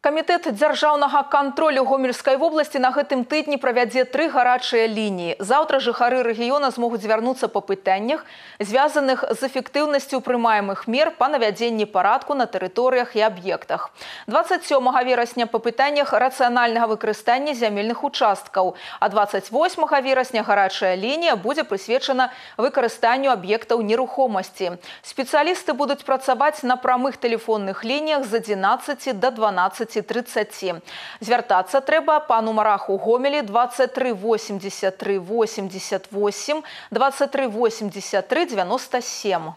Камітэт дзяржаўнага кантролю Гомельскай вобласці на гэтым тыдні правядзе 3 гарачыя лініі. Заўтра жыхары рэгіёна змогуць звярнуцца па пытаннях, звязаных з эфектыўнасцю прымаемых мер па навядзенні парадку на тэрыторыях і аб'ектах. 27 верасня па пытаннях рацыянальнага выкарыстання зямельных участкаў, а 28 верасня гарачая лінія будзе прысвечана выкарыстанню аб'ектаў нерухомасці. Спецыялісты будуць працаваць на прамых тэлефонных лініях з 11 да 12:30. Звяртацца трэба па нумарах у Гомелі 23 83 88, 23 83 97.